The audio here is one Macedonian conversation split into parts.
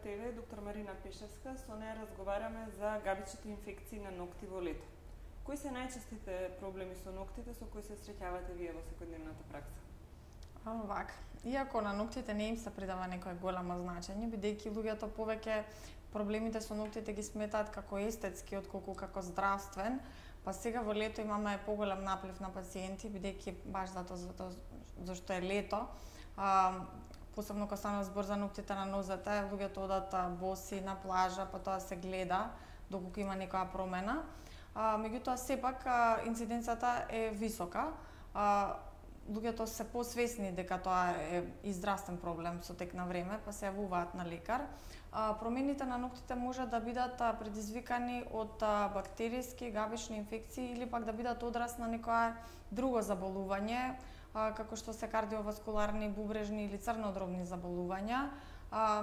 ТВ доктор Марина Пешевска. Со неја разговараме за габичните инфекции на ногти во лето. Кои се најчестите проблеми со ноктите со кои се среќавате вие во секојдневната пракса? Вака. Иако на ноктите не им се придава некое голямо значење, бидејќи луѓето повеќе проблемите со ноктите ги сметаат како естетски отколку како здравствен, па сега во лето имаме поголем наплив на пациенти, бидејќи баш зашто е лето, посебно кога станува збор за ноктите на нозете, луѓето одат боси на плажа, па тоа се гледа доколку има некоја промена. Меѓутоа сепак инциденцијата е висока. Луѓето се посвесни дека тоа е и здравствен проблем со тек на време, па се јавуваат на лекар. Промените на ноктите може да бидат предизвикани од бактериски, габични инфекции или пак да бидат одраз на некое друго заболување, како што се кардиоваскуларни, бубрежни или црнодробни заболувања.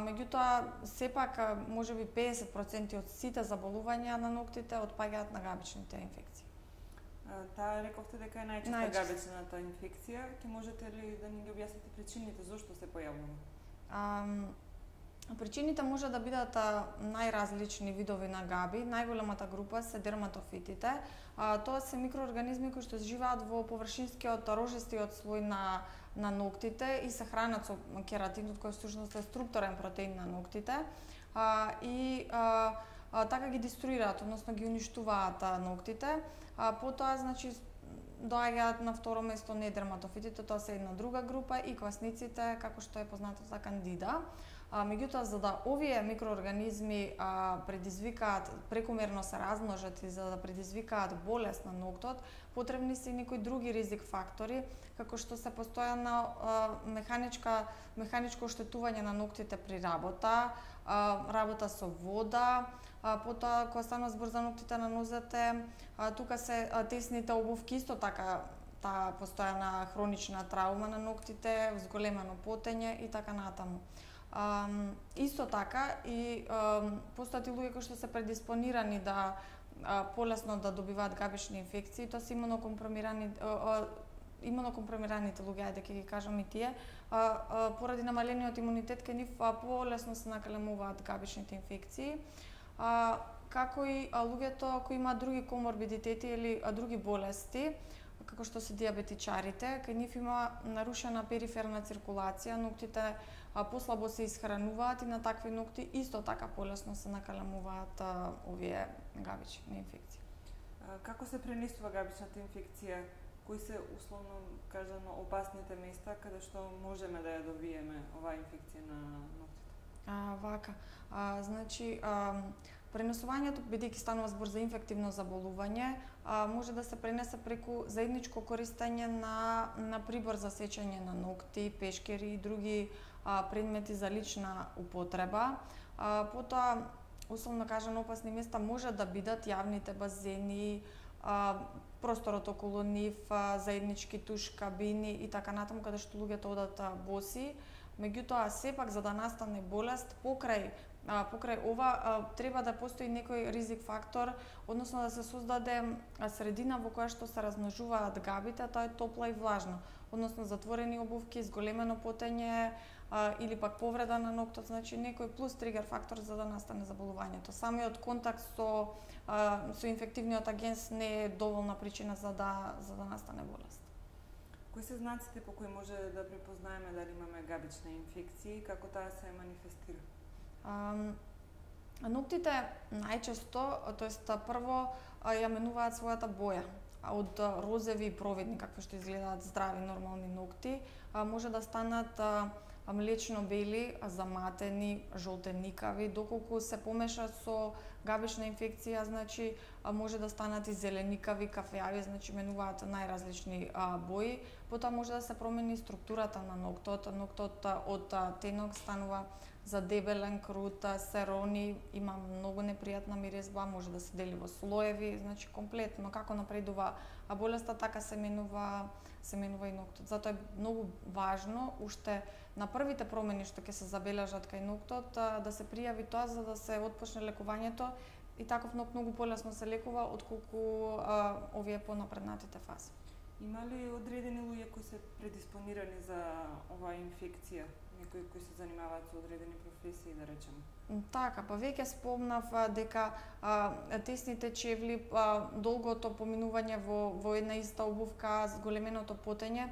Меѓутоа, сепак, можеби 50% од сите заболувања на ноктите отпаѓаат на габичните инфекции. Таа рековте дека е најчеста габичната инфекција. Ќе можете ли да ни ги објасните причините зошто се појавува? Причините може да бидат најразлични видови на габи. Најголемата група се дерматофитите. Тоа се микроорганизми кои што живеат во површинскиот рожестиот слој на ноктите и се хранат со кератинот кој всушност е структурен протеин на ноктите. Така ги деструираат, односно ги уништуваат ноктите. Потоа, значи, доаѓаат на второ место не дерматофитите, тоа се една друга група и квасниците, како што е познато за кандида. Меѓутоа, за да овие микроорганизми предизвикаат, прекумерно се размножат и за да предизвикаат болест на ноктот, потребни се и некои други ризик фактори, како што се постојано механичко оштетување на ноктите при работа, работа со вода, потоа кога станува збор за ноктите на нозете, тука се тесните обувки, исто така таа постојана хронична травма на ноктите, зголемено потење и така натаму. Исто така и постојат и луѓе кои што се предиспонирани да полесно да добиваат габични инфекции, тоа се имунокомпромираните луѓе, ајде ќе ги кажам и тие, поради намалениот имунитет кај нив полесно се накалемуваат габичните инфекции, како и луѓето кои имаат други коморбидитети или други болести, како што се диабетичарите, кај нив има нарушена периферна циркулација, ноктите послабо се исхрануваат и на такви нокти исто така полесно се накалемуваат овие габични инфекции. Како се пренесува габичната инфекција? Кои се условно кажано опасните места каде што можеме да ја добиеме оваа инфекција на ноктите? Значи, пренесувањето, бидејќи станува збор за инфективно заболување, може да се пренесе преку заедничко користење на прибор за сечење на нокти, пешкери и други предмети за лична употреба. Потоа, условно кажано, опасни места може да бидат јавните базени, просторот околу нив, заеднички туш кабини и така натаму, каде што луѓето одат боси. Меѓутоа, сепак за да настане болест, покрај ова треба да постои некој ризик фактор, односно да се создаде средина во која што се размножуваат габите, тоа е топла и влажно, односно затворени обувки, зголемено потење или пак повреда на ноктот, значи некој плюс тригер фактор за да настане заболувањето. Самиот контакт со инфективниот агент не е доволна причина за да настане болест. Кои се знаците по кои може да препознаеме дали имаме габична инфекција и како таа се манифестира? Ноктите најчесто, тоест прво ја менуваат својата боја. Од розеви и провидни, како што изгледаат здрави нормални нокти, може да станат млечно бели, заматени, жолтеникави, доколку се помеша со габична инфекција, значи може да станат и зеленикави, кафеави, значи менуваат најразлични бои. Потоа може да се промени структурата на ноктот. Ноктот од тенок станува задебелен, крут, се рони, има многу непријатна миризба, може да се дели во слоеви, значи комплетно како напредува болеста, така се менува и ноктот. Затоа е многу важно уште на првите промени што ќе се забележат кај ноктот да се пријави тоа за да се отпочне лекувањето и таков нокт многу полесно се лекува отколку овие понапреднатите фази. Има ли одредени луѓе кои се предиспонирани за оваа инфекција? Некои кои се занимаваат со одредени професии, да речеме? Така, па веќе спомнав дека тесните чевли, долгото поминување во една иста обувка, зголеменото потење,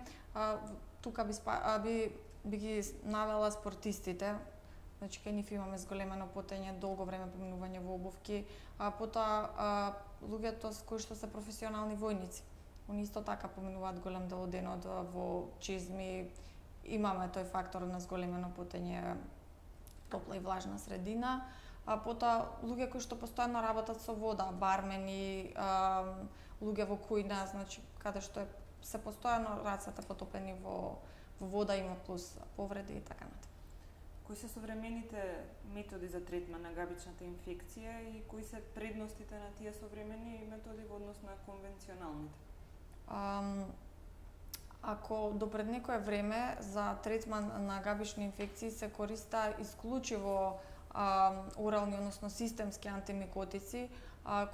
тука би ги навела спортистите. Значи, кај нив имаме зголемено потење, долго време поминување во обувки, потоа луѓето кои што се професионални војници. Они исто така поминуваат голем дел од денот во чизми. Имаме тој фактор на зголемено потење, топла и влажна средина. Потоа луѓе кои што постојано работат со вода, бармени, луѓе во кујна, значи каде што се постојано рацете потопени во вода, има плюс повреди и така натаму. Кои се современите методи за третман на габичната инфекција и кои се предностите на тие современи методи во однос на конвенционалните? Ако до пред некое време за третман на габични инфекции се користа исклучиво орални, односно системски антимикотици,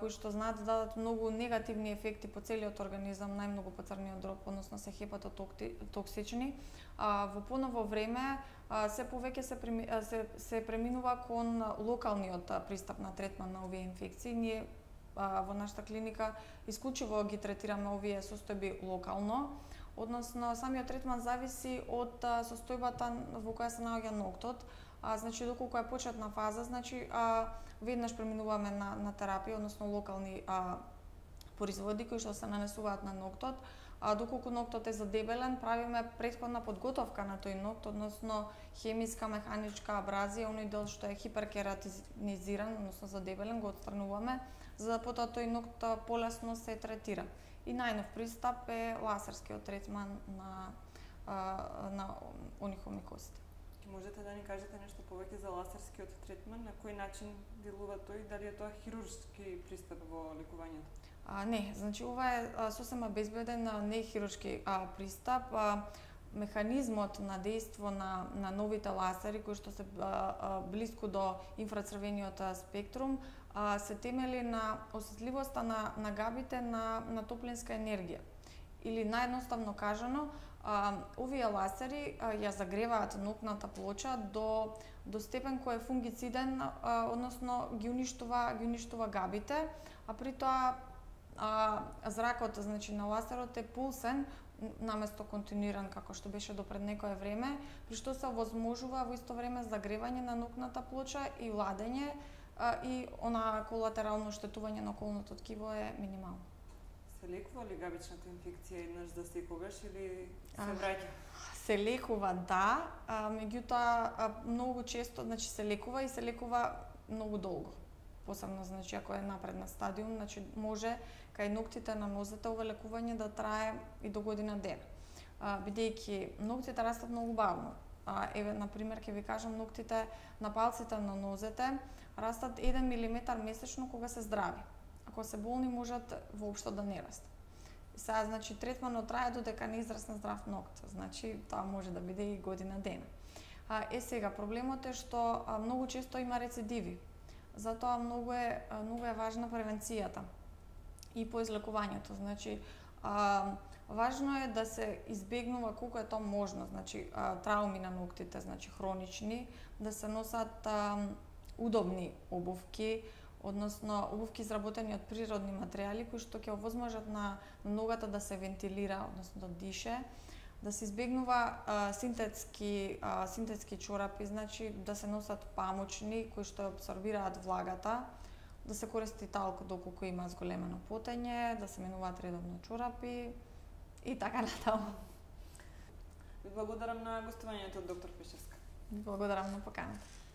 кои што знаат да дадат многу негативни ефекти по целиот организам, најмногу по црниот дроб, односно се хепатотоксични. Во поново време се повеќе се преминува кон локалниот пристап на третман на овие инфекции. Ние во нашата клиника исклучиво ги третираме овие состојби локално, односно самиот третман зависи од состојбата во која се наоѓа ноктот. Значи, доколку е почетна фаза, значи веднаш преминуваме на терапија, односно локални производи кои што се нанесуваат на ноктот. Доколку ноктот е задебелен, правиме претходна подготовка на тој нокт, односно хемиска, механичка абразија, оној дел што е хиперкератинизиран, односно задебелен, го отстрануваме, за да потоа тој нокт полесно се третира. И најнов пристап е лазерскиот третман на онихомикозите. Можете да ни кажете нешто повеќе за лазерскиот третман, на кој начин делува тој, дали е тоа хируршки пристап во лекувањето? Не, значи ова е сосема безбеден нехируршки пристап. Механизмот на дејство на новите лазери кои што се блиску до инфрацрвениот спектрум се темели на осетливоста на габите на топлинска енергија. Или наједноставно кажано, овие лазери ја загреваат нокната плоча до степен кој е фунгициден, односно ги уништува габите, а при тоа зракот, значи, на лазерот е пулсен наместо континуиран како што беше до пред некое време, при што се овозможува во исто време загревање на нокната плоча и ладење, и она колатерално оштетување на околното ткиво е минимално. Се лекува ли габичната инфекција еднаш за секогаш или се враќа? Се лекува, да, меѓутоа многу често, значи, се лекува и се лекува многу долго. Посебно, значи, ако е напредна стадиум, значи може кај ноктите на нозете ова лекување да трае и до година дена. Бидејќи ноктите растат многу бавно. Еве, например, ќе ви кажам, ноктите на палците на нозете растат 1 милиметар месечно кога се здрави. Ако се болни, можат воопшто да не растат. Сега, значи, третманот трае додека не израсне здрав нокт. Значи, тоа може да биде и година дена. Сега, проблемот е што многу често има рецидиви. Затоа многу е важна превенцијата и поизлекувањето. Значи, важно е да се избегнува колку е тоа можно, значи трауми на ноктите, значи хронични, да се носат удобни обувки, односно обувки изработени од природни материјали кои што ќе овозможат на ногата да се вентилира, односно да дише, да се избегнува синтетски чорапи, значи да се носат памучни кои што абсорбираат влагата, да се користи талк доколку има зголемено потење, да се менуваат редовно чорапи и така натаму. Ви благодарам на гостувањето, доктор Пешевска. Благодарам на поканата.